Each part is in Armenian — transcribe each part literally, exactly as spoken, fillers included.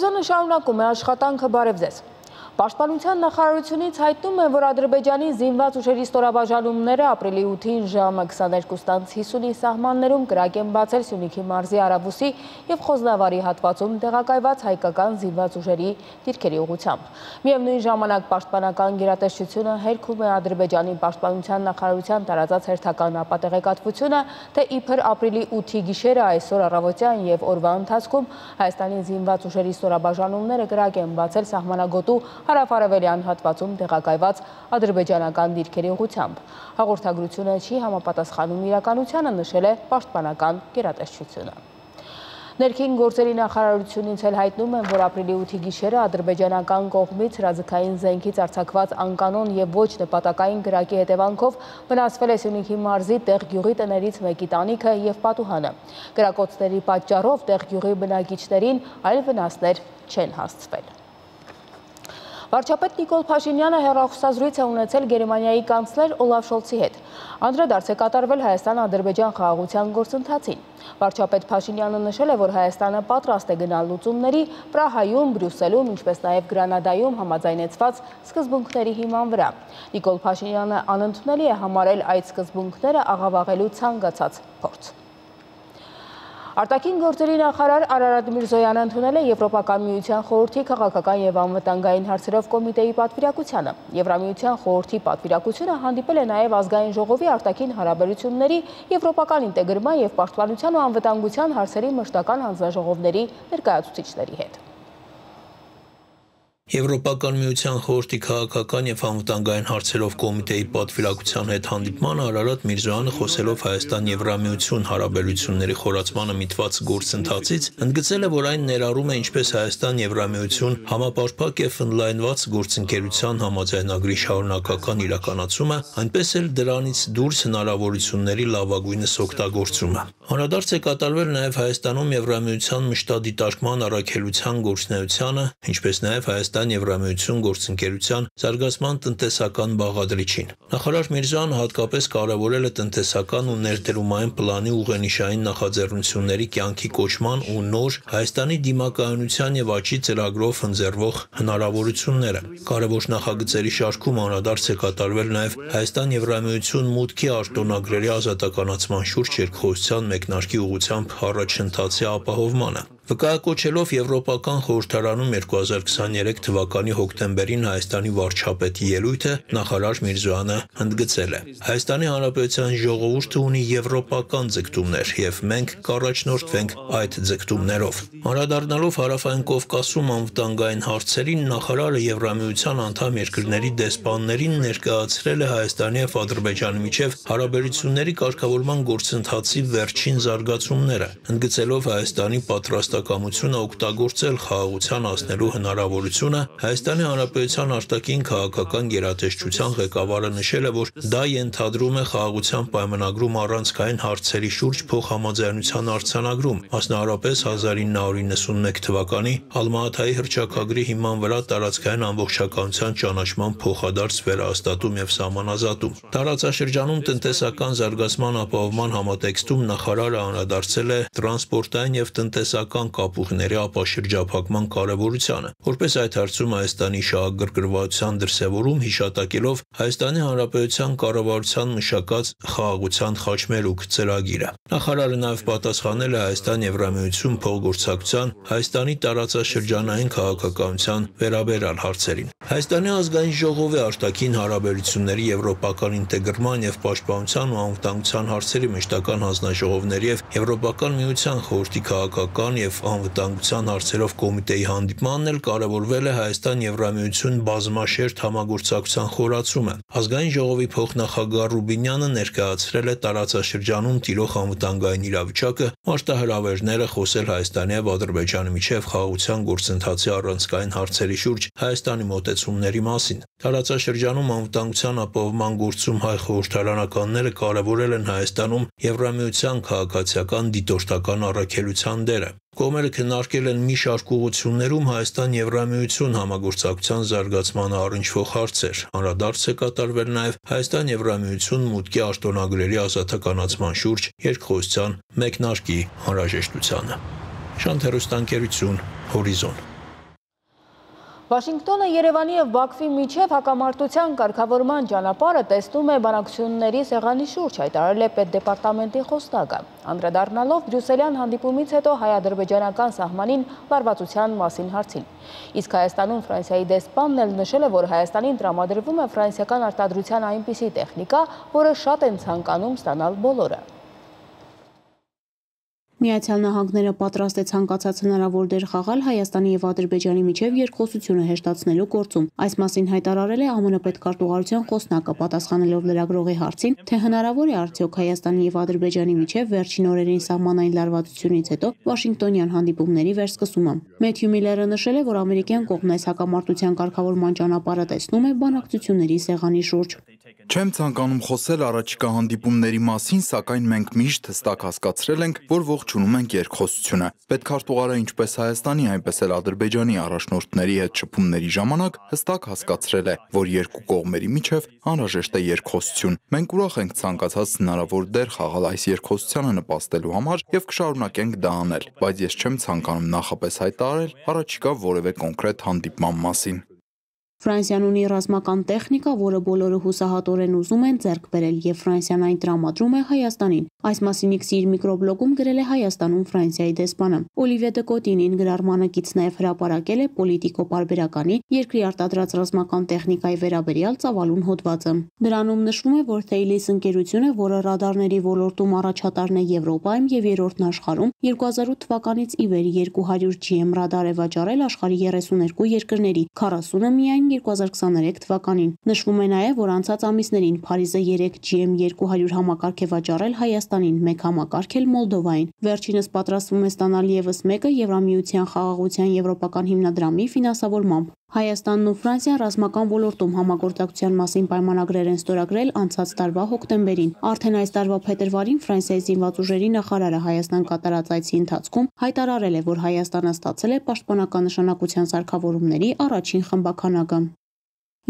Հորիզոնը շարունակում է աշխատանքը բարև ձեզ։ Պաշտպանության նախարարությունից հայտնում է, որ Ադրբեջանի զինված ուժերի ստորաբաժանումները ապրիլի ութին ժամը քսաներկուս տանց հիսունի սահմաններում կրակ են բացել Սյունիքի մարզի Արավուսի և Խոզնավարի հատվածում տեղակայված հայկական զինված ուժերի դիրքերի ուղղությամբ։ Միևնույն ժամանակ պաշտպանական գերատեսչությունը հերքում է Ադրբեջանի պաշտպանության նախարարության տարածած հերթական ապատեղեկատվությունը, թե իբր ապրիլի ութի գիշերը այսօր առավոտյան և օրվա ընթացքում Հայաստանի զինված ուժերի ստորաբաժանումները կրակ են բացել սահմանագոտու հարավ-արևելյան հատվածում տեղակայված ադրբեջանական դիրքերի ուղղությամբ։ Հաղորդագրությունը չի համապատասխանում իրականությանը, նշել է պաշտպանական գերատեսչությունը։ Ներքին գործերի նախարարությունից էլ հայտնում են, որ ապրիլի ութի գիշերը ադրբեջանական կողմից հրաձգային զենքից արձակված անկանոն և ոչ նպատակային կրակի հետևանքով վնասվել է Սյունիքի մարզի Տեղ գյուղի տներից մեկի տանիքը և պատուհանը։ Կրակոցների պատճառով Տեղ գյուղի բնակիչներին այլ վնասներ չեն հասցվել։ Վարչապետ Նիկոլ Փաշինյանը հեռախոսազրույց է ունեցել Գերմանիայի կանցլեր Օլաֆ Շոլցի հետ։ Անդրադարձ է կատարվել Հայաստան-Ադրբեջան խաղաղության գործընթացին։ Վարչապետ Փաշինյանը նշել է, որ Հայաստանը պատրաստ է գնալ լուծումների Պրահայում, Բրյուսելում, ինչպես նաև Գրանադայում համաձայնեցված սկզբունքների հիման վրա։ Նիկոլ Փաշինյանը անընդունելի է համարել այդ սկզբունքները աղավաղելու ցանկացած փորձ։ Արտաքին գործերի նախարար Արարատ Միրզոյանը ընդունել է Եվրոպական միության խորհրդի քաղաքական և անվտանգային հարցերով կոմիտեի պատվիրակությանը։ Եվրամիության խորհրդի պատվիրակությունը հանդիպել է նաև ազգային ժողովի արտաքին հարաբերությունների, եվրոպական ինտեգրման և պաշտպանության ու անվտանգության հարցերի մշտական հանձնաժողովների ներկայացուցիչների հետ։ Եվրոպական միության խորհրդի քաղաքական և անվտանգային հարցերով կոմիտեի պատվիրակության հետ հանդիպման Արարատ Միրզոյանը խոսելով Հայաստան-Եվրամիություն հարաբերությունների խորացմանը միտված գործընթացից ընդգծել է, որ այն ներառում է ինչպես Հայաստան-Եվրամիություն համապարփակ և ընդլայնված գործընկերության համաձայնագրի շարունակական իրականացումը, այնպես էլ դրանից դուրս հնարավորությունների լավագույնս օգտագործումը։ Անդրադարձ է կատարվել նաև Հայաստանում Եվրամիության մշտադիտարկման առաքելության գործունեությանը, ինչպես նաև Հայաստան-Եվրամիություն գործընկերության զարգացման տնտեսական բաղադրիչին։ Նախարար Միրզոյանը հատկապես կարևորել է տնտեսական ու ներդրումային պլանի ուղենիշային նախաձեռնությունների կյանքի կոչման ու նոր Հայաստանի դիմակայունության և աճի ծրագրով ընձեռվող հնարավորությունները։ Կարևոր նախագծերի շարքում անդրադարձ է կատարվել նաև Հայաստան-Եվրամիություն մուտքի արտոնագրերի ազատականացման շուրջ երկխոսության մեկնարկի ուղղությամբ առաջընթացի ապահովմանը։ Վկայակոչելով Եվրոպական խորհրդարանում երկու հազար քսաներեք թվականի հոկտեմբերին Հայաստանի վարչապետի ելույթը նախարար Միրզոյանը ընդգծել է. Հայաստանի Հանրապետության ժողովուրդը ունի եվրոպական ձգտումներ և մենք կառաջնորդվենք այդ ձգտումներով։ Անդրադառնալով Հարավային Կովկասում անվտանգային հարցերին, նախարարը Եվրամիության անդամ երկրների դեսպաններին ներկայացրել է Հայաստանի և Ադրբեջանի միջև հարաբերությունների կարգավորման գործընթացի վերջին զարգացումները, ընդգծելով Հայաստանի պատրաստակամությունը օգտագործել խաղաղության հասնելու հնարավորությունը, Հայաստանի Հանրապետության արտաքին քաղաքական գերատեսչության ղեկավարը նշել է, որ դա ենթադրում է խաղաղության պայմանագրում առանցքային հարցերի շուրջ փոխհամաձայնության արձանագրում, մասնավորապես հազար ինը հարյուր նվաթ թվականի Ալմա-Աթայի հռչակագրի հիման վրա տարածքային ամբողջականության ճանաչման փոխադարձ վերահաստատում և սահմանազատում։ Տարածաշրջանում տնտեսական զարգացման ապահովման համատեքստում նախարարը անդրադարձել է տրանսպորտային և տնտեսական կապուղիների ապաշրջափակման կարևորությանը, որպես այդ հարցում Հայաստանի շահագրգռվածության դրսևորում հիշատակելով Հայաստանի Հանրապետության կառավարության մշակած խաղաղության խաչմերուկ ծրագիրը։ Նախարարը նաև պատասխանել է Հայաստան-Եվրամիություն փոխգործակցության Հայաստանի տարածաշրջանային քաղաքականության վերաբերյալ հարցերին։ Հայաստանի ազգային ժողովի արտաքին հարաբերությունների եվրոպական ինտեգրման և պաշտպանության ու անվտանգության հարցերի մշտական հանձնաժողովների և Եվրոպական միության խորհրդի քաղաքական և անվտանգության հարցերով կոմիտեի հանդիպմանն էլ կարևորվել է Հայաստան-Եվրամիություն բազմաշերտ համագործակցության խորացումը։ Ազգային ժողովի փոխնախագահ Ռուբինյանը ներկայացրել է տարածաշրջանում տիրող անվտանգային իրավիճակը, մարտահրավերները, խոսել Հայաստանի և Ադրբեջանի միջև խաղաղության գործընթացի առանցքային հարցերի շուրջ Հայաստանի մոտեցումների մասին։ Տարածաշրջանում անվտանգության ապահովման գործում հայ խորհրդարանականները կարևորել են Հայաստանում Եվրամիության քաղաքացիական դիտորդական առաքելության դերը։ Կողմերը քննարկել են մի շարք ուղղություններում Հայաստան-Եվրամիություն համագործակցության զարգացմանը առնչվող հարցեր։ Անդրադարձ է կատարվել նաև Հայաստան-Եվրամիություն մուտքի արտոնագրերի ազատականացման շուրջ երկխոսության մեկնարկի անհրաժեշտությանը։ Շանթ հեռուստաընկերություն, Հորիզոն։ Վաշինգտոնը Երևանի և Բաքվի միջև հակամարտության կարգավորման ճանապարհը տեսնում է բանակցությունների սեղանի շուրջ, հայտարարել է պետդեպարտամենտի խոսնակը, անդրադառնալով բրյուսելյան հանդիպումից հետո հայ-ադրբեջանական սահմանին լարվածության մասին հարցին։ Իսկ Հայաստանում Ֆրանսիայի դեսպանն էլ նշել է, որ Հայաստանին տրամադրվում է ֆրանսիական արտադրության այնպիսի տեխնիկա, որը շատ են ցանկանում ստանալ բոլորը։ Միացյալ Նահանգները պատրաստ է ցանկացած հնարավոր դեր խաղալ Հայաստանի և Ադրբեջանի միջև երկխոսությունը հեշտացնելու գործում։ Այս մասին հայտարարել է ԱՄՆ պետքարտուղարության խոսնակը, պատասխանելով լրագրողի հարցին, թե հնարավոր է արդյոք Հայաստանի և Ադրբեջանի միջև վերջին օրերին սահմանային լարվածությունից հետո Վաշինգտոնյան հանդիպումների վերսկսումը։ Մեթյու Միլլերը նշել է, որ ամերիկյան կողմն այս հակամարտության կարգավորման ճանապարհը տեսնում է բանակցությունների սեղանի շուրջ։ Չեմ ցանկանում խոսել առաջիկա հանդիպումների մասին, սակայն մենք միշտ հստակ հասկացրել ենք, որ ողջունում ենք երկխոսությունը։ Պետքարտուղարը ինչպես Հայաստանի, այնպես էլ Ադրբեջանի առաջնորդների հետ շփումների ժամանակ հստակ հասկացրել է, որ երկու կողմերի միջև անհրաժեշտ է երկխոսություն։ Մենք ուրախ ենք ցանկացած հնարավոր դեր խաղալ այս երկխոսությանը նպաստելու համար եւ կշարունակենք դա անել, բայց ես չեմ ցանկանում նախապես հայտարարել առաջիկա որևէ կոնկրետ հանդիպման մասին։ Ֆրանսիան ունի ռազմական տեխնիկա, որը բոլորը հուսահատորեն ուզում են ձեռք բերել, եւ Ֆրանսիան այն տրամադրում է Հայաստանին։ Այս մասին X-ի իր միկրոբլոգում գրել է Հայաստանում Ֆրանսիայի դեսպանը։ Օլիվիե դե Կոտինին գրառմանը կից նաև հրապարակել է Պոլիտիկո պարբերականի երկրի արտադրած ռազմական տեխնիկայի վերաբերյալ ծավալուն հոդվածը։ Դրանում նշվում է, որ Թեյլիս ընկերությունը, որը ռադարների ոլորտում առաջատարն է Եվրոպայում եւ երրորդն աշխարհում, երկու հազար ութ թվականից ի վեր երկու հարյուր G M ռադար է վաճառել աշխարհի երեսուն երկու երկրների, քառասունը միայն երկու հազար քսաներեք թվականին։ Նշվում է նաև, որ անցած ամիսներին Փարիզը երեք G M երկու հարյուր համակարգ է վաճառել Հայաստանին, մեկ համակարգ էլ Մոլդովային։ Վերջինս պատրաստվում է ստանալ ևս մեկը Եվրամիության խաղաղության եվրոպական հիմնադրամի ֆինանսավորմամբ։ Հայաստանն ու Ֆրանսիան ռազմական ոլորտում համագործակցության մասին պայմանագրեր են ստորագրել անցած տարվա հոկտեմբերին։ Արդեն այս տարվա փետրվարին Ֆրանսիայի զինված ուժերի նախարարը Հայաստան կատարած այցի ընթացքում հայտարարել է, որ Հայաստանը ստացել է պաշտպանական նշանակության սարքավորումների առաջին խմբաքանակը։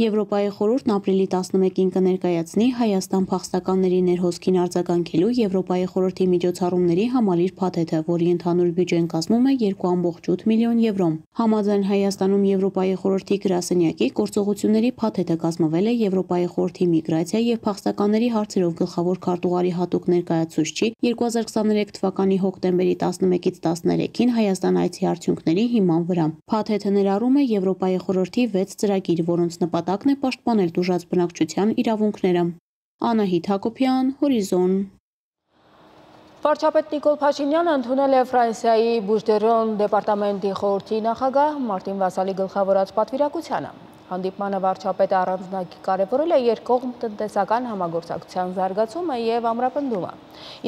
Եվրոպայի խորհուրդն ապրիլի տասնմեկին կներկայացնի Հայաստան փախստականների ներհոսքին արձագանքելու Եվրոպայի խորհրդի միջոցառումների համալիր փաթեթը, որի ընդհանուր բյուջեն կազմում է երկու կόμma ութ միլիոն եվրո։ Համաձայն Հայաստանում Եվրոպայի խորհրդի գրասենյակի գործողությունների փաթեթը կազմվել է Եվրոպայի խորհրդի միգրացիա եւ փախստականների հարցերով գլխավոր քարտուղարի հատուկ ներկայացուցչի երկու հազար քսաներեք թվականի հոկտեմբերի տասնմեկից տասներեքին Հայաստան այցի արդյունքների հիման վրա։ Փաթեթը ներառում է Եվրոպայի խորհրդի վեց ծրագիր, որոնց նպատակն է պաշտպանել տուժած բնակչության իրավունքները։ Անահիտ Հակոբյան, Հորիզոն։ Վարչապետ Նիկոլ Փաշինյանը ընդունել է Ֆրանսիայի Բուժդերոն դեպարտամենտի խորհրդի նախագահ Մարտին Վասալի գլխավորած պատվիրակությանը։ Հանդիպմանը վարչապետը առանձնವಾಗಿ կարևորել է երկկողմ տնտեսական համագործակցության զարգացումը եւ ամրապնդումը։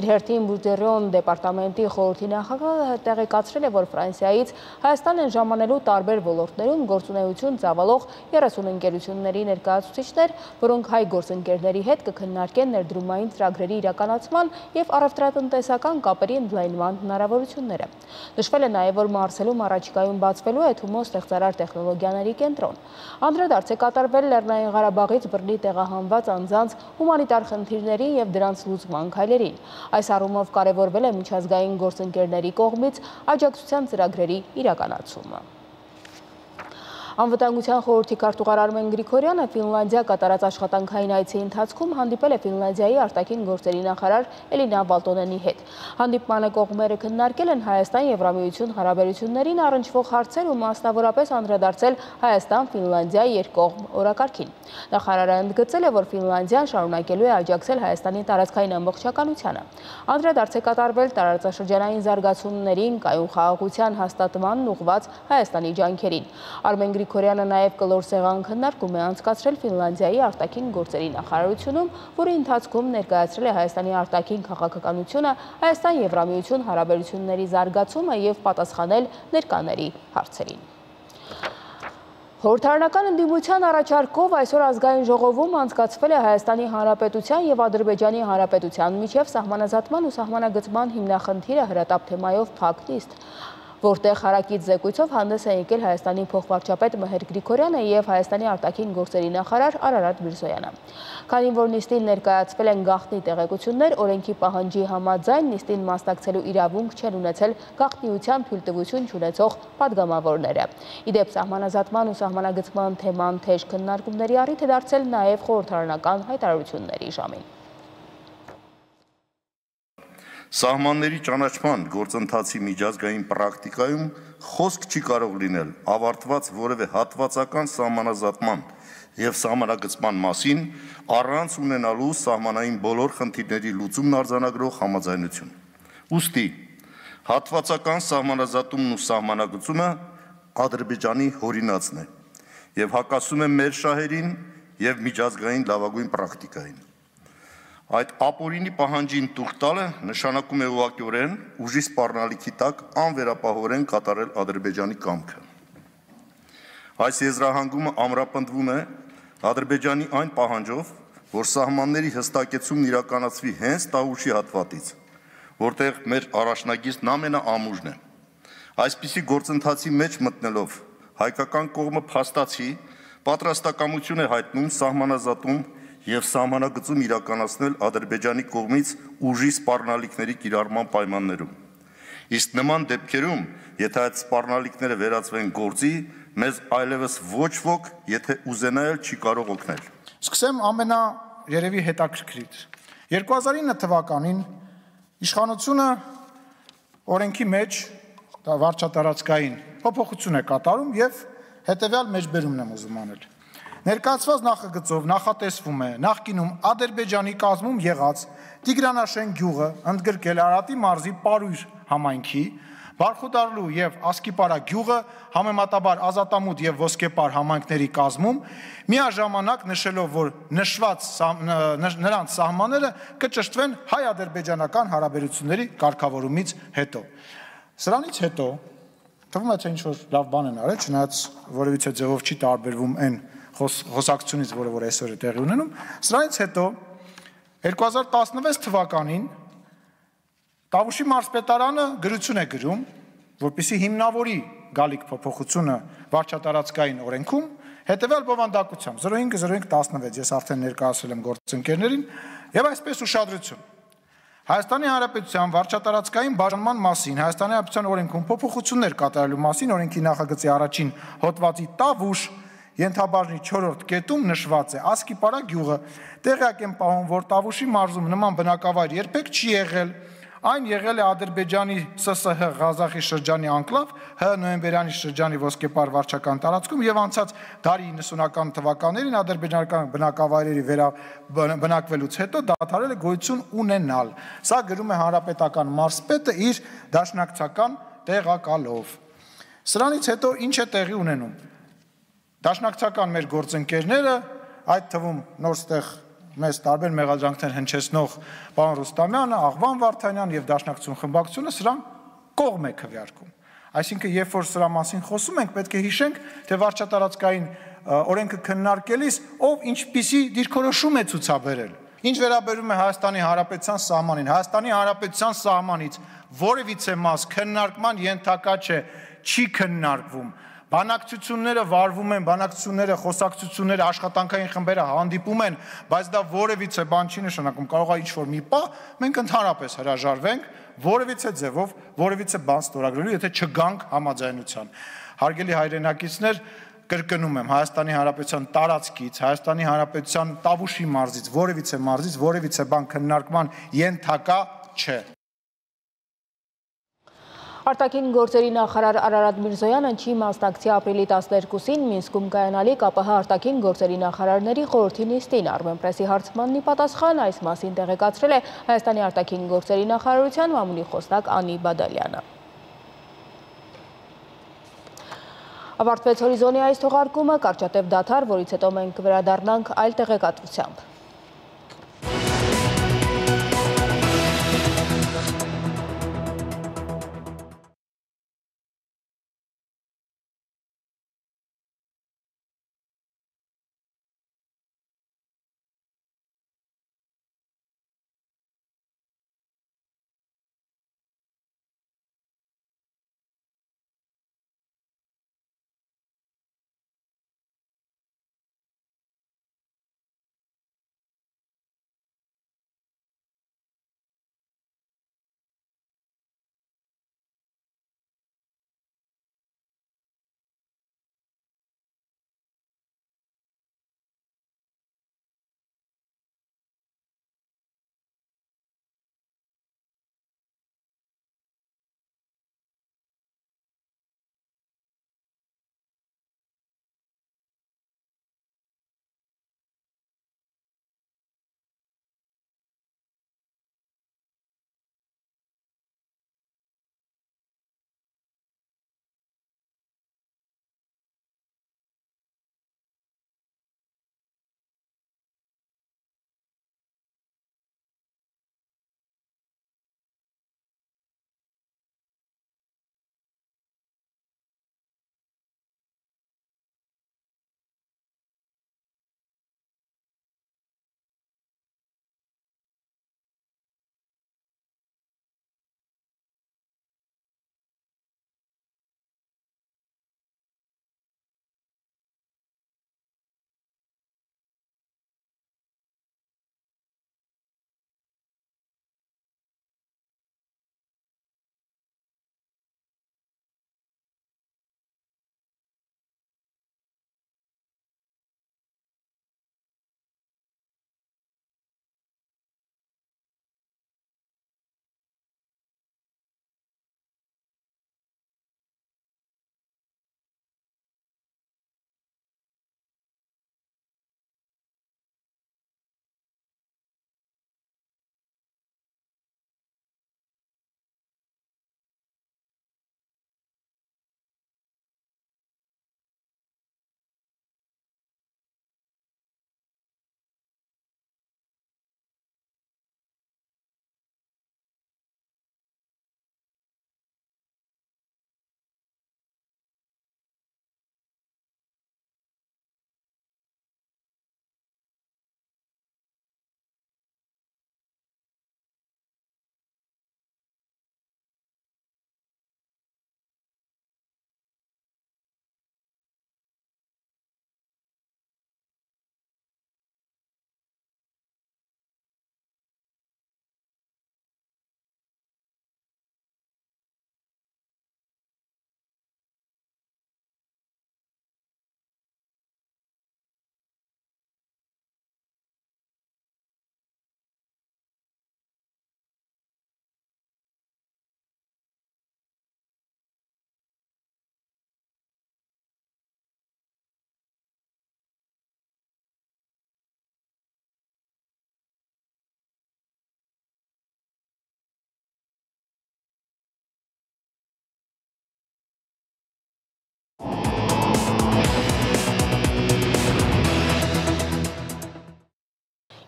Իր հերթին Բուժդերոն դեպարտամենտի խորհրդի նախագահը տեղեկացրել է, որ Ֆրանսիայից Հայաստան են ժամանելու տարբեր ոլորտներում գործունեություն ծավալող երեսուն ընկերությունների ներկայացուցիչներ, որոնք հայ գործընկերների հետ կքննարկեն ներդրումային ծրագրերի իրականացման եւ առևտրատնտեսական կապերի ընդլայնման հնարավորությունները։ Նշվել է նաեւ, որ Մարսելում առաջիկայում բացվելու է Թումո ստեղծարար տեխնոլոգիաների կենտրոն։ Անդրադարձ է կատարվել Լեռնային Ղարաբաղից բռնի տեղահանված անձանց հումանիտար խնդիրների եւ դրանց լուծման քայլերին։ Այս առումով կարևորվել է միջազգային գործընկերների կողմից աջակցության ծրագրերի իրականացումը։ Անվտանգության խորհրդի քարտուղար Արմեն Գրիգորյանը Ֆինլանդիա կատարած աշխատանքային այցի ընթացքում հանդիպել է Ֆինլանդիայի արտաքին գործերի նախարար Էլինա Բալտոնենի հետ։ Հանդիպմանը կողմերը քննարկել են Հայաստան-Եվրամիություն հարաբերություններին առնչվող հարցեր ու մասնավորապես անդրադարձել Հայաստան-Ֆինլանդիա երկկողմ օրակարգին։ Նախարարը ընդգծել է, որ Ֆինլանդիան շարունակելու է աջակցել Հայաստանի տարածքային ամբողջականությանը։ Անդրադարձ է կատարվել տարածաշրջանային զարգացումներին, կայուն խաղաղության հաստատմանն ուղղված Հայաստանի ջանքերին։ Արմեն Գրիգորյանը նաև կլոր սեղան քննարկում է անցկացրել Ֆինլանդիայի արտաքին գործերի նախարարությունում, որի ընթացքում ներկայացրել է Հայաստանի արտաքին քաղաքականությունը, Հայաստան-Եվրամիություն հարաբերությունների զարգացումը եւ պատասխանել ներկաների հարցերին։ Խորհրդարանական ընդդիմության առաջարկով այսօր ազգային ժողովում անցկացվել է Հայաստանի Հանրապետության եւ Ադրբեջանի Հանրապետության միջև սահմանազատման ու սահմանագծման հիմնախնդիրը հրատապ թեմայով փակ նիստ, որտեղ հարակից զեկույցով հանդես է եկել Հայաստանի փոխվարչապետ Մհեր Գրիգորյանը եւ Հայաստանի արտաքին գործերի նախարար Արարատ Միրզոյանը։ Քանի որ նիստին ներկայացվել են գաղտնի տեղեկություններ, օրենքի պահանջի համաձայն նիստին մասնակցելու իրավունք չեն ունեցել գաղտնիության թույլտվություն չունեցող պատգամավորները։ Իդեպ սահմանազատման ու սահմանագծման թեման թեժ քննարկումների առիթ է դարձել նաև խորհրդարանական հայտարարությունների ժամին։ Սահմանների ճանաչման գործընթացի միջազգային պրակտիկայում խոսք չի կարող լինել ավարտված որևէ հատվածական սահմանազատման և սահմանագծման մասին առանց ունենալու սահմանային բոլոր խնդիրների լուծումն արձանագրող համաձայնություն։ Ուստի հատվածական սահմանազատումն ու սահմանագծումը Ադրբեջանի հորինածն է և հակասում է մեր շահերին և միջազգային լավագույն պրակտիկային։ Այդ ապօրինի պահանջին տուղ տալը նշանակում է ուղղակիորեն ուժի սպառնալիքի տակ անվերապահորեն կատարել Ադրբեջանի կամքը։ Այս եզրահանգումը ամրապնդվում է Ադրբեջանի այն պահանջով, որ սահմանների հստակեցումն իրականացվի հենց Տավուշի հատվածից, որտեղ մեր առաջնագիծն ամենաամուժն է։ Այսպիսի գործընթացի մեջ մտնելով հայկական կողմը փաստացի պատրաստակամություն է հայտնում սահմանազատում և սահմանագծում իրականացնել Ադրբեջանի կողմից ուժի սպառնալիքների կիրառման պայմաններում։ Իսկ նման դեպքերում, եթե այդ սպառնալիքները վերածվեն գործի, մեզ այլևս ոչ ոք, եթե ուզենա էլ չի կարող օգնել։ Սկսեմ ամենա երևի հետաքրքրից։ երկու հազար ինը թվականին իշխանությունը օրենքի մեջ վարչատարածքային փոփոխություն է կատարում եւ հետեւյալ մեջբերումն եմ ուզում անել։ Ներկայացված նախագծով նախատեսվում է նախկինում Ադրբեջանի կազմում եղած Տիգրանաշեն գյուղը ընդգրկել Արարատի մարզի Պարույր համայնքի, Բարխուդարլու եւ Ասկիպարա գյուղը համեմատաբար Ազատամուտ եւ Ոսկեպար համայնքների կազմում, միաժամանակ նշելով, որ նշված նրանց սահմանները կճշտվեն հայ-ադրբեջանական հարաբերությունների կարգավորումից հետո։ Սրանից հետո թվում է, թե ինչ-որ լավ բան են արել, չնայած որևիցե ձևով չի տարբերվում այն խոսակցությունից, որը որ այսօր է տեղի ունենում, սրանից հետո երկու հազար տասնվեց թվականին Տավուշի մարզպետարանը գրություն է գրում, որպեսզի հիմնավորի գալիք փոփոխությունը վարչատարածքային օրենքում, հետևյալ բովանդակությամբ զրո հինգ զրո հինգ տասնվեց, ես արդեն ներկայացրել եմ գործընկերներին, եւ այսպես ուշադրություն։ Հայաստանի Հանրապետության վարչատարածքային բաժանման մասին Հայաստանի Հանրապետության օրենքում փոփոխություններ կատարելու մասին օրենքի նախագծի առաջին հոդվածի Տավուշ ենթաբաժնի չորրորդ կետում նշված է Ասկիպարա գյուղը, տեղյակ եմ պահում, որ Տավուշի մարզում նման բնակավայր երբեք չի եղել, այն եղել է Ադրբեջանի ՍՍՀ Ղազախի շրջանի անկլավ, Հ նոյեմբերյանի շրջանի Ոսկեպար վարչական տարածքում եւ անցած դարի իննսունական թվականներին ադրբեջանական բնակավայրերի բնակվելուց հետո դադարել է գոյություն ունենալ։ Սա գրում է հանրապետական մարզպետը իր դաշնակցական տեղակալով։ Սրանից հետո ինչ է տեղի ունենում։ Դաշնակցական մեր գործընկերները, այդ թվում նորստեղ մեզ տարբեր մեղադրանքներ հնչեցնող պարոն Ռուստամյանը, Աղվան Վարդանյանը եւ Դաշնակցություն խմբակցությունը սրան կողմ է քվեարկում։ Այսինքն, երբ որ սրա մասին խոսում ենք, պետք է հիշենք, թե վարչատարածքային օրենքը քննարկելիս ով ինչպիսի դիրքորոշում է ցուցաբերել։ Ինչ վերաբերում է Հայաստանի Հանրապետության սահմանին, Հայաստանի Հանրապետության սահմանից որևիցե մաս քննարկման ենթակա չէ, չի քննարկվում։ Բանակցությունները վարվում են, բանակցությունները, խոսակցությունները, աշխատանքային խմբերը հանդիպում են, բայց դա որևիցե բան չի նշանակում, կարող է ինչ-որ մի պահ մենք ընդհանրապես հրաժարվենք որևիցե ձևով, որևիցե բան ստորագրելու, եթե չգանք համաձայնության։ Հարգելի հայրենակիցներ, կրկնում եմ, Հայաստանի Հանրապետության տարածքից, Հայաստանի Հանրապետության Տավուշի մարզից, որևիցե մարզից, որևիցե բան քննարկման ենթակա չէ։ Արտաքին գործերի նախարար Արարատ Միրզոյանը չի մասնակցի ապրիլի տասներկուսին Մինսկում կայանալիք ԱՊՀ արտաքին գործերի նախարարների խորհրդի նիստին։ Armenpress-ի հարցմանն ի պատասխան այս մասին տեղեկացրել է Հայաստանի արտաքին գործերի նախարարության մամուլի խոսնակ Անի Բադալյանը։ Ավարտվեց հորիզոնի այս թողարկումը, կարճատև դադար, որից հետո մենք կվերադառնանք այլ տեղեկատվությամբ։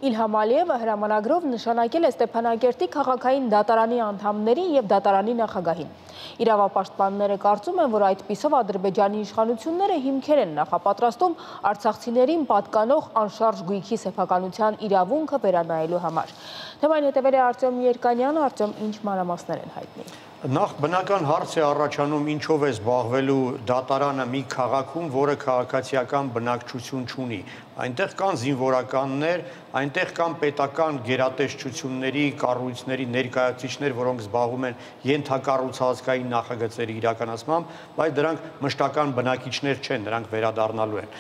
Իլհամ Ալիևը հրամանագրով նշանակել է Ստեփանակերտի քաղաքային դատարանի անդամներին և դատարանի նախագահին։ Իրավապաշտպանները կարծում են, որ այդպիսով Ադրբեջանի իշխանությունները հիմքեր են նախապատրաստում արցախցիներին պատկանող անշարժ գույքի սեփականության իրավունքը վերանայելու համար։ Թեմային հետևել է Արտյոմ Երկանյանը, Արտյոմ, ինչ մանրամասներ են հայտնի։ Նախ բնական հարց է առաջանում, ինչով է զբաղվելու դատարանը մի քաղաքում, որը քաղաքացիական բնակչություն չունի։ Այնտեղ կան զինվորականներ, այնտեղ կան պետական գերատեսչությունների, կառույցների ներկայացուցիչներ, որոնք զբաղվում են ենթակառուցվածքային նախագծերի իրականացմամբ, բայց դրանք մշտական բնակիչներ չեն, նրանք վերադառնալու են։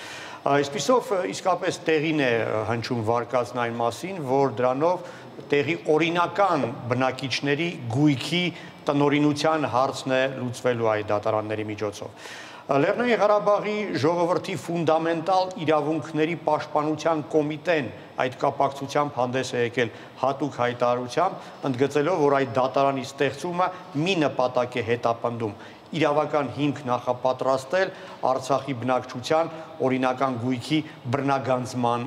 Այսպիսով իսկապես տեղին է հնչում վարկածն այն մասին, որ դրանով տեղի օրինական բնակիչների գույքի տնօրինության հարցն է լուծվելու այդ դատարանների միջոցով։ Լեռնային Ղարաբաղի ժողովրդի ֆունդամենտալ իրավունքների պաշտպանության կոմիտեն այդ կապակցությամբ հանդես է եկել հատուկ հայտարարությամբ, ընդգծելով, որ այդ դատարանի ստեղծումը մի նպատակ է հետապնդում՝ իրավական հիմք նախապատրաստել Արցախի բնակչության օրինական գույքի բռնագանձման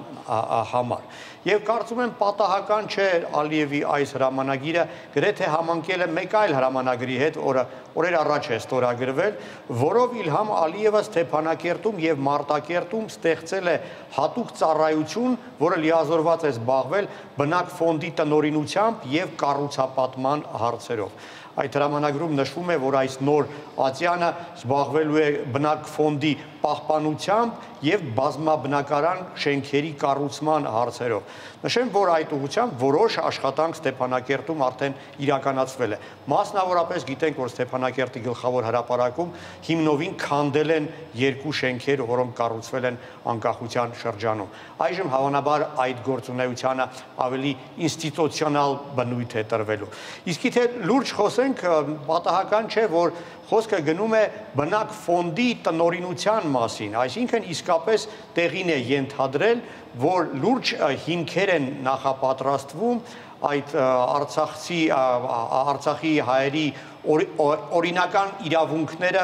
համար։ Եվ կարծում եմ պատահական չէ Ալիևի այս հրամանագիրը գրեթե համընկել է մեկ այլ հրամանագրի հետ, որը օրեր առաջ է ստորագրվել, որով Իլհամ Ալիևը Ստեփանակերտում եւ Մարտակերտում ստեղծել է հատուկ ծառայություն, որը լիազորված է զբաղվել բնակ ֆոնդի տնօրինությամբ եւ կառուցապատման հարցերով։ Այդ հրամանագրում նշվում է, որ այս նոր ատյանը զբաղվելու է բնակ ֆոնդի պահպանությամբ եւ բազմաբնակարան շենքերի կառուցման հարցերով։ Նշեմ, որ այդ ուղղությամբ որոշ աշխատանք Ստեփանակերտում արդեն իրականացվել է։ Մասնավորապես գիտենք, որ Ստեփանակերտի գլխավոր հրապարակում հիմնովին քանդել են երկու շենքեր, որոնք կառուցվել են անկախության շրջանում։ Այժմ հավանաբար այդ գործունեությանը ավելի ինստիտուցիոնալ բնույթ է տրվելու։ Իսկ եթե լուրջ խոսենք, պատահական չէ, որ խոսքը գնում է բնակ ֆոնդի տնօրինության մասին, այսինքն իսկապես տեղին է ենթադրել, որ լուրջ հիմքեր են նախապատրաստվում այդ Արցախցի Արցախի հայերի օրինական իրավունքները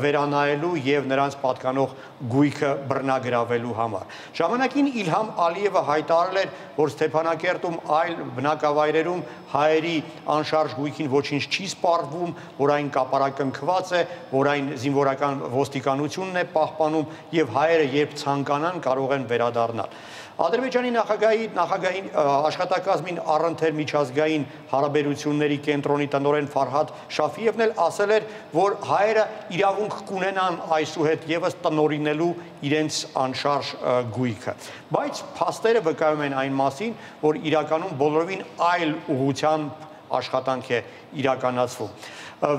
վերանայելու եւ նրանց պատկանող գույքը բռնագրավելու համար։ Ժամանակին Իլհամ Ալիևը հայտարարել էր, որ Ստեփանակերտում այլ բնակավայրերում հայերի անշարժ գույքին ոչինչ չի սպառվում, որ այն կապարակնքված է, որ այն զինվորական ոստիկանությունն է պահպանում եւ հայերը երբ ցանկանան կարող են վերադառնալ։ Ադրբեջանի նախագահի նախագահի աշխատակազմին առընթեր միջազգային հարաբերությունների կենտրոնի տնօրեն Ֆարհադ Շաֆիևն էլ ասել էր, որ հայերը իրավունք կունենան այսուհետ եւս տնօրինելու իրենց անշարժ գույքը։ Բայց փաստերը վկայում են այն մասին, որ իրականում բոլորովին այլ ուղղությամբ աշխատանք է իրականացվում։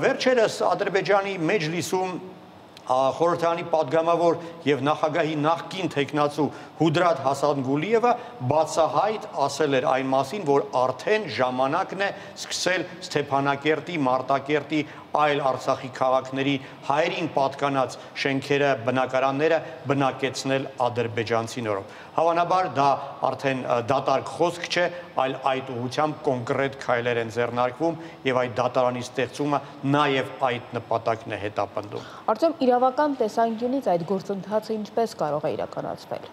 Վերջերս Ադրբեջանի մեջլիսում խորհրդարանի падգամավոր եւ նախագահի նախկին տեխնացու Հուդրատ Հասանգուլիևը բացահայտ ասել էր այն մասին, որ արդեն ժամանակն է սկսել Ստեփանակերտի, Մարտակերտի այլ Արցախի քաղաքների հայերին պատկանած շենքերը, բնակարանները բնակեցնել ադրբեջանցի նորով։ Հավանաբար դա արդեն դատարկ խոսք չէ, այլ այդ ուղղությամբ կոնկրետ քայլեր են ձեռնարկվում եւ այդ դատարանի ստեղծումը նաեւ այդ նպատակն է հետապնդում։ Արտյոմ, իրավական տեսանկյունից այդ գործընթացը ինչպես կարող է իրականացվել։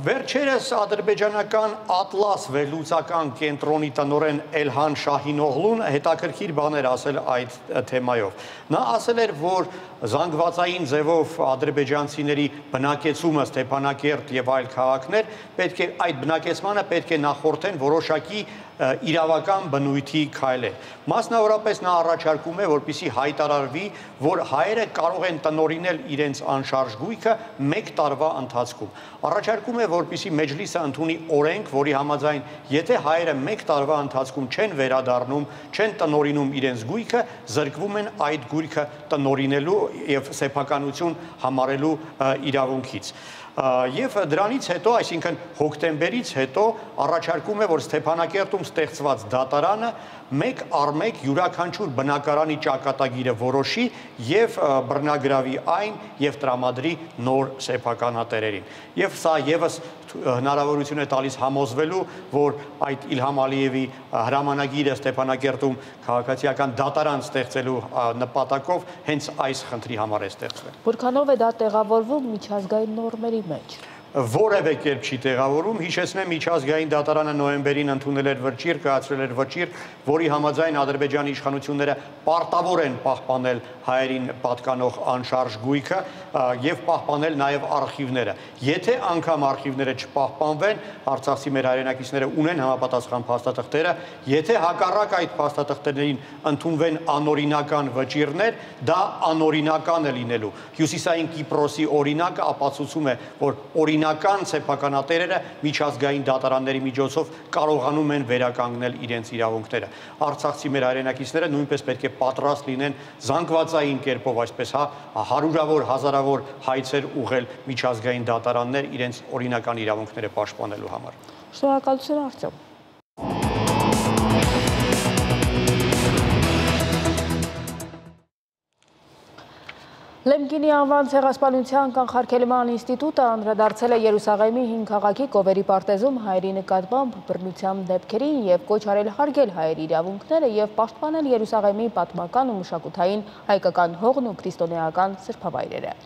Վերջերս ադրբեջանական Ատլաս վերլուծական կենտրոնի տնօրեն Էլհան Շահինօղլուն հետաքրքիր բաներ ասել այդ թեմայով։ Նա ասել էր, որ զանգվածային ձևով ադրբեջանցիների բնակեցումը Ստեփանակերտ եւ այլ քաղաքներ պետք է այդ բնակեցմանը պետք է նախորդեն որոշակի իրավական բնույթի քայլեր։ Մասնավորապես նա առաջարկում է, որպեսզի հայտարարվի, որ հայերը կարող են տնօրինել իրենց անշարժ գույքը մեկ տարվա ընթացքում։ Առաջարկում է, որպեսզի մեջլիսը ընդունի օրենք, որի համաձայն, եթե հայերը մեկ տարվա ընթացքում չեն վերադառնում, չեն տնօրինում իրենց գույքը, զրկվում են այդ գույքը տնօրինելու եւ սեփականություն համարելու իրավունքից։ Եվ դրանից հետո, այսինքն հոկտեմբերից հետո առաջարկում է, որ Ստեփանակերտում ստեղծված դատարանը մեկ առ մեկ յուրաքանչյուր բնակարանի ճակատագիրը որոշի եւ բռնագրավի այն եւ տրամադրի նոր սեփականատերերին։ Եվ սա եւս հնարավորություն է տալիս համոզվելու, որ այդ Իլհամ Ալիևի հրամանագիրը Ստեփանակերտում քաղաքացիական դատարան ստեղծելու նպատակով հենց այս խնդրի համար է ստեղծվել։ Որքանով է դա տեղավորվում միջազգային նորմերի մեջ։ որևէ կերպ չի տեղավորում։ Հիշեցնեմ, միջազգային դատարանը նոյեմբերին ընդունել էր վճիռ, կայացրել էր վճիռ, որի համաձայն Ադրբեջանի իշխանությունները պարտավոր են պահպանել հայերին պատկանող անշարժ գույքը եւ պահպանել նաեւ արխիվները։ Եթե անգամ արխիվները չպահպանվեն, արցախցի մեր հայրենակիցները ունեն համապատասխան փաստաթղթերը, եթե հակառակ այդ փաստաթղթերին ընդունվեն անօրինական վճիռներ, դա անօրինական է լինելու։ Հյուսիսային Կիպրոսի օրինակը ապացուցում է, որ օրինական սեփականատերերը միջազգային դատարանների միջոցով կարողանում են վերականգնել իրենց իրավունքները։ Արցախցի մեր հայրենակիցները նույնպես պետք է պատրաստ լինեն զանգվածային կերպով, այսպես հա, հարյուրավոր, հազարավոր հայցեր ուղղել միջազգային դատարաններ իրենց օրինական իրավունքները պաշտպանելու համար։ Շնորհակալություն, Արտյոմ։ Լեմկինի անվան ցեղասպանության կանխարգելման ինստիտուտը անդրադարձել է Երուսաղեմի հին քաղաքի Կովերի պարտեզում հայերի նկատմամբ բռնության դեպքերին եւ կոչ արել հարգել հայերի իրավունքները եւ պաշտպանել Երուսաղեմի պատմական ու մշակութային հայկական հողն ու քրիստոնեական սրբավայրերը։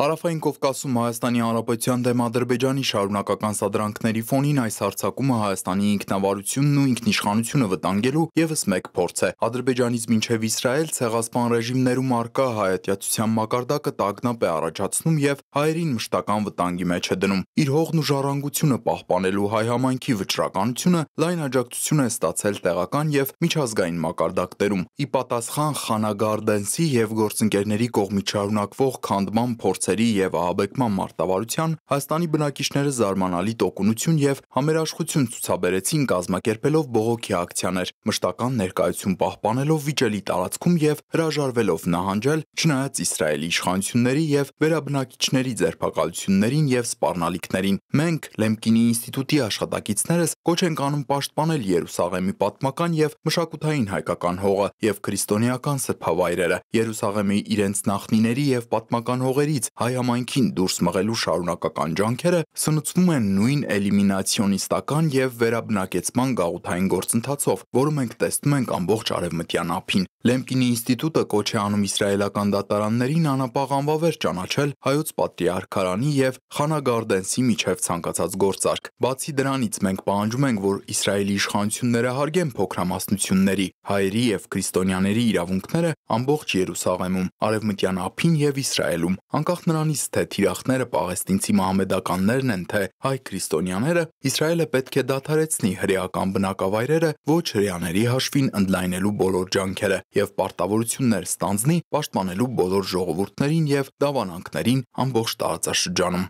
Հարավային Կովկասում Հայաստանի Հանրապետության դեմ Ադրբեջանի շարունակական սադրանքների ֆոնին այս հարձակումը Հայաստանի ինքնավարությունն ու ինքնիշխանությունը վտանգելու ևս մեկ փորձ է։ Ադրբեջանից մինչև Իսրայել ցեղասպան ռեժիմներում առկա հայատյացության մակարդակը տագնապ է առաջացնում եւ հայերին մշտական վտանգի մեջ է դնում։ Իր հողն ու ժառանգությունը պահպանելու հայ համայնքի վճռականությունը լայն աջակցություն է ստացել տեղական եւ միջազգային մակարդակներում։ Ի պատասխան Խանագարդենսի եւ գործընկերների կողմից շարունակվող քանդման փորձերի եւ ահաբեկման մարտավարության Հայաստանի բնակիչները զարմանալի տոկունություն եւ համերաշխություն ցուցաբերեցին կազմակերպելով բողոքի ակցիաներ, մշտական ներկայություն պահպանելով վիճելի տարածքում եւ հրաժարվելով նահանջել, չնայած Իսրայելի իշխանությունների եւ վերաբնակիչների ձերբակալություններին եւ սպառնալիքներին։ Մենք Լեմկինի ինստիտուտի աշխատակիցներս կոչ ենք անում պաշտպանել Երուսաղեմի պատմական եւ մշակութային հայկական հողը եւ քրիստոնեական սրբավայրերը, Երուսաղեմի իրենց նախնիների եւ պատմական հողերից հայ համայնքին դուրս մղելու շարունակական ջանքերը սնուցվում են նույն էլիմինացիոնիստական եւ վերաբնակեցման գաղութային գործընթացով, որը մենք տեսնում ենք ամբողջ արևմտյան ափին։ Լեմկինի ինստիտուտը կոչ է անում իսրայելական դատարաններին անապաղ անվավեր ճանաչել հայոց պատրիարքարանի եւ Խանագարդենսի միջև ցանկացած գործարք։ Բացի դրանից մենք պահանջում ենք, որ Իսրայելի իշխանությունները հարգեն փոքրամասնությունների, հայերի եւ քրիստոնյաների իրավունքները ամբողջ Երուսաղեմում, արևմտյան ափին եւ Իսրայելում, անկախ նրանից թե թիրախները պաղեստինցի մահմեդականներն են, թե հայ քրիստոնյաները, Իսրայելը պետք է դադարեցնի հրեական բնակավայրերը ոչ հրեաների հաշվին ընդլայնելու բոլոր ջանքերը եւ պարտավորություններ ստանձնի պաշտպանելու բոլոր ժողովուրդներին եւ դավանանքներին ամբողջ տարածաշրջանում։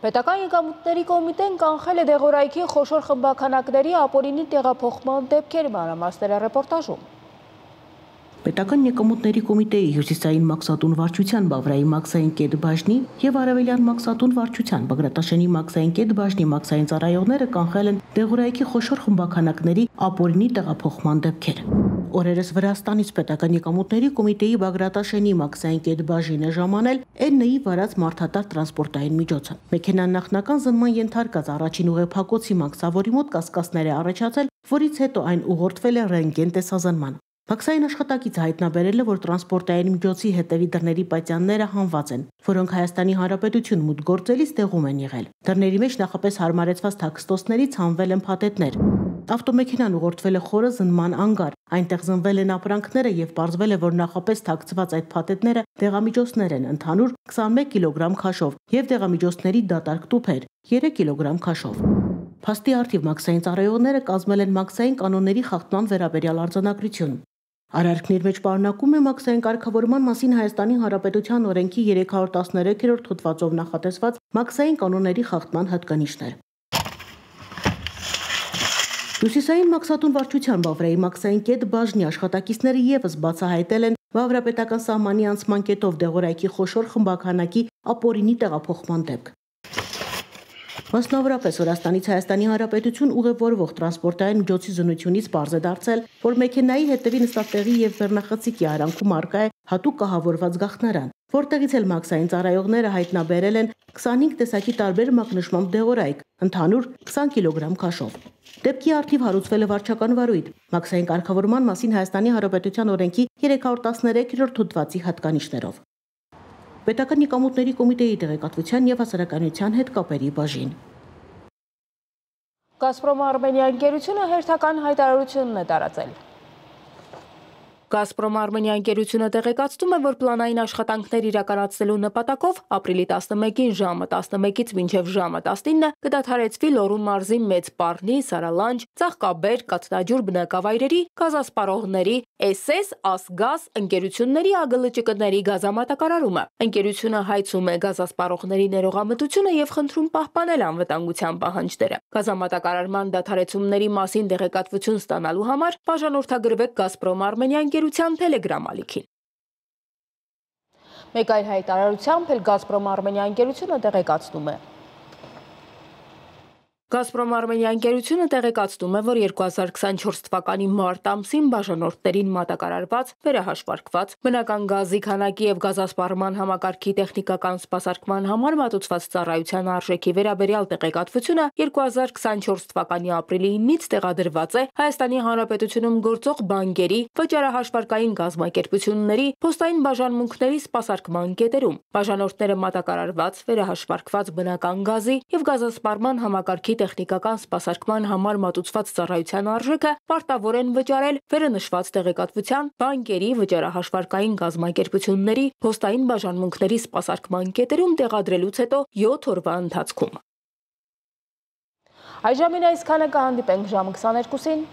Պետական եկամուտների կոմիտեն կանխել է դեղորայքի խոշոր խմբաքանակների ապօրինի տեղափոխման դեպքեր, մանրամասները ռեպորտաժում։ Պետական եկամուտների կոմիտեի հյուսիսային մաքսատուն վարչության Բավրայի մաքսային կետ բաժնի եւ արևելյան մաքսատուն վարչության Բագրատաշենի մաքսային կետ բաժնի մաքսային ծառայողները կանխել են դեղորայքի խոշոր խմբաքանակների ապօրինի տեղափոխման դեպքեր։ Օրերս Վրաստանից պետական եկամուտների կոմիտեի Բագրատաշենի մաքսային կետ բաժինը ժամանել Էն Նի վարած մարդատար տրանսպորտային միջոցը։ Մեքենան նախնական զննման ենթարկած առաջին ուղեփակոցի մաքսավորի մոտ կասկածներ է առաջացել, որից հետո այն ուղղորդվել է ռենտգեն տեսազնման։ Մաքսային աշխատակիցը հայտնաբերել է, որ տրանսպորտային միջոցի հետևի դռների պատյանները հանված են, որոնք Հայաստանի Հանրապետություն մուտք գործելիս տեղում են եղել։ Դռների մեջ նախապես հարմարեցված թաքստոցներից հանվել են փաթեթներ։ Ավտոմեքենան ուղղորդվել է խորը զննման անգար։ Այնտեղ զնվել են ապրանքները եւ պարզվել է, որ նախապես թաքցված այդ փաթեթները դեղամիջոցներ են ընդհանուր քսանմեկ կիլոգրամ քաշով եւ դեղամիջոցների դատարկ տուփեր երեք կիլոգրամ քաշով։ Փաստի արդիվ մաքսային ծառայողները կազմել են մաքսային կանոնների խախտման վերաբերյալ արձանագրություն։ Արարքն իր մեջ պարունակում է մաքսային կարգավորման մասին Հայաստանի Հանրապետության օրենքի երեք հարյուր տասներեքերորդ հոդվածով նախատեսված մաքսային կանոնների խախտման հատկանիշներ։ Հյուսիսային մաքսատուն վարչության Բավրայի մաքսային կետ բաժնի աշխատակիցները եւս բացահայտել են Բավրապետական սահմանի անցման կետով դեղորայքի խոշոր խմբաքանակի ապօրինի տեղափոխման դեպք։ Մասնավորապես Վրաստանից Հայաստանի Հանրապետություն ուղևորվող տրանսպորտային միջոցի զննությունից պարզ է դարձել, որ մեքենայի հետևի նստատեղի եւ վերնախցիկի արանքում առկա է հատուկ կահավորված գաղտնարան, որտեղից էլ մաքսային ծառայողները հայտնաբերել են քսանհինգ տեսակի տարբեր մակնշմամբ դեղորայք, ընդհանուր քսան կիլոգրամ քաշով։ Դեպքի արդիվ հարուցվել է վարչական վարույթ, մաքսային կարգավորման մասին Հայաստանի Հանրապետության օրենքի երեք հարյուր տասներեքերորդ հոդվածի հատկանիշներով։ Պետական եկամուտների կոմիտեի տեղեկատվության եւ հասարակայնության հետ կապերի բաժին։ Գազպրոմ Արմենիա ընկերությունը հերթական հայտարարություն է տարածել։ Գազպրոմ Արմենիա ընկերությունը տեղեկացնում է, որ պլանային աշխատանքներ իրականացնելու նպատակով ապրիլի տասնմեկին ժամը տասնմեկից մինչև ժամը տասնինը կդադարեցվի Լոռու մարզի Մեծ Պառնի, Սարալանջ, Ծաղկաբեր, Կաթնաջուր բնակավայրերի գազասպառողների էս էս Ասգազ ընկերությունների ԱԳԼՃԿ-ների գազամատակարարումը։ Ընկերությունը հայցում է գազասպառողների ներողամտությունը եւ խնդրում պահպանել անվտանգության պահանջները։ Գազամատակարարման դադարեցումների մասին տեղեկատվություն ստանալու համար բաժանորդագրվեք Գազպրոմ Արմենիա ընկերության Telegram ալիքին։ Մեկ այլ հայտարարությամբ էլ Գազպրոմ Արմենիա ընկերությունը տեղեկացնում է. Գազպրոմ Արմենիա ընկերությունը տեղեկացնում է, որ երկու հազար քսանչորս թվականի մարտ ամսին բաժանորդներին մատակարարված, վերահաշվարկված, բնական գազի քանակի եւ գազասպառման համակարգի տեխնիկական սպասարկման համար մատուցված ծառայության արժեքի վերաբերյալ տեղեկատվությունը երկու հազար քսանչորս թվականի ապրիլի ինից տեղադրված է Հայաստանի Հանրապետությունում գործող բանկերի, վճարահաշվարկային կազմակերպությունների, փոստային բաժանմունքների սպասարկման կետերում։ Բաժանորդները մատակարարված, վերահաշվարկված բնական գազի եւ գազասպառման համակարգի տեխնիկական սպասարկման համար մատուցված ծառայության արժեքը պարտավոր են վճարել վերնշված տեղեկատվության, բանկերի, վճարահաշվարկային կազմակերպությունների, փոստային բաժանմունքների սպասարկման կետերում տեղադրելուց հետո յոթ օրվա ընթացքում։ Այժմին այսքանը, կհանդիպենք ժամը քսաներկուսին։